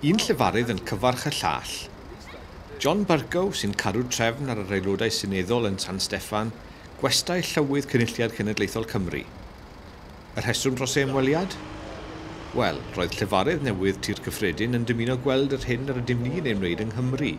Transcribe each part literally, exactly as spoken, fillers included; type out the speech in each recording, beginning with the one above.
Un llefarydd yn cyfarch y llall. John Bercow sy'n cadw trefn ar yr aelodau seneddol yn San Steffan, gwestai llywydd Cynulliad Cenedlaethol Cymru. Y rheswm dros ei ymweliad? Wel, roedd llefarydd newydd Tŷ'r Cyffredin yn dymuno gweld yr hyn yr ydym ni'n ei wneud yng Nghymru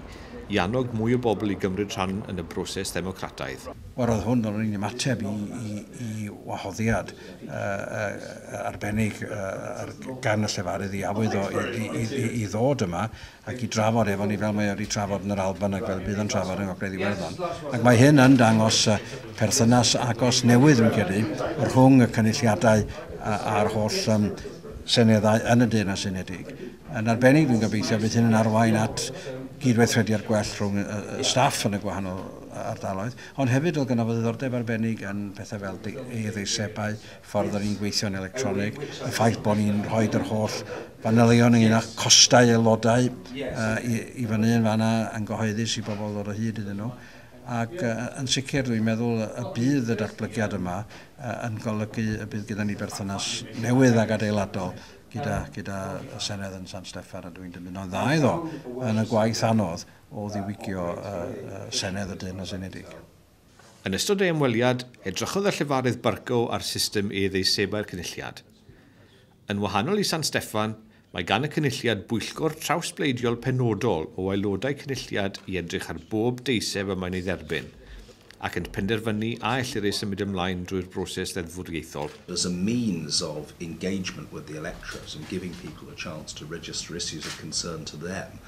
i annog mwy o bobl i gymryd rhan yn y broses ddemocrataidd. Wel, roedd hwn o'n un ymateb i, i, i wahoddiad uh, uh, arbennig uh, gan y llefarydd i awydd o i, i, i, i ddod yma ac i drafod efo ni fel mae wedi trafod yn yr Alban ac fel bydd yn trafod yng Ngogledd Iwerddon. Ac mae hyn yn dangos uh, perthynas agos newydd, dwi'n credu, rhwng y cynulliadau a'r holl um, seneddau yn y Deyrnas Unedig. Yn arbennig, dwi'n gobeithio bydd hyn yn arwain at gydweithrediad gwell rhwng y staff yn y gwahanol ardaloedd, ond hefyd oedd gynno fo ddiddordeb arbennig yn pethau fel e-ddeisebau, ffordd o'n i'n gweithio'n electronig, y ffaith bod ni'n rhoi yr holl fanylion ynglyn â costau aelodau uh, i, i fyny yn fanna yn gyhoeddus i bobl ddod o hyd iddyn nhw. Ac uh, yn sicr dwi'n meddwl y bydd y datblygiad yma uh, yn golygu y bydd gyda ni berthynas newydd ac adeiladol gyda, gyda y Senedd yn San Steffan, a dwi'n dymuno'n dda iddo yn y gwaith anodd o ddiwygio uh, uh, Senedd y Deyrnas Unedig. Yn ystod ei ymweliad, edrychodd y llefarydd Bercow ar system e-ddeisebau'r Cynulliad. Yn wahanol i San Steffan, mae gan y Cynulliad bwyllgor trawsbleidiol penodol o aelodau Cynulliad i edrych ar bob deiseb y mae'n ei dderbyn, ac yn penderfynu a ellir ei symud ymlaen drwy'r broses ddeddfwriaethol. As a means of engagement with the electorate and giving people a chance to register issues of concern to them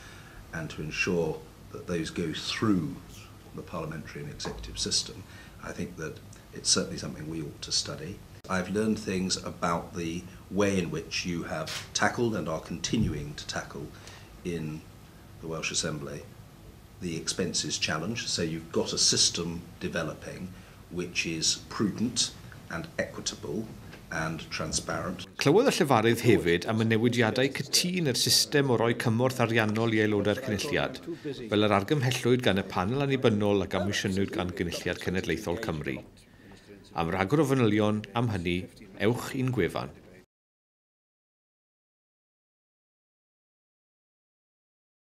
and to ensure that those go through the parliamentary and executive system, I think that it's certainly something we ought to study. I've learned things about the way in which you have tackled and are continuing to tackle in the Welsh Assembly the expenses challenge. So you've got a system developing which is prudent and equitable and transparent. Clywodd y llefarydd hefyd am y newidiadau cytûn i'r system o roi cymorth ariannol i aelodau'r Cynulliad, fel yr argymhellwyd gan y panel annibynnol a gomisiynwyd gan Gynulliad Cenedlaethol Cymru. Am ragor o fanylion am hynny, ewch i'n gwefan.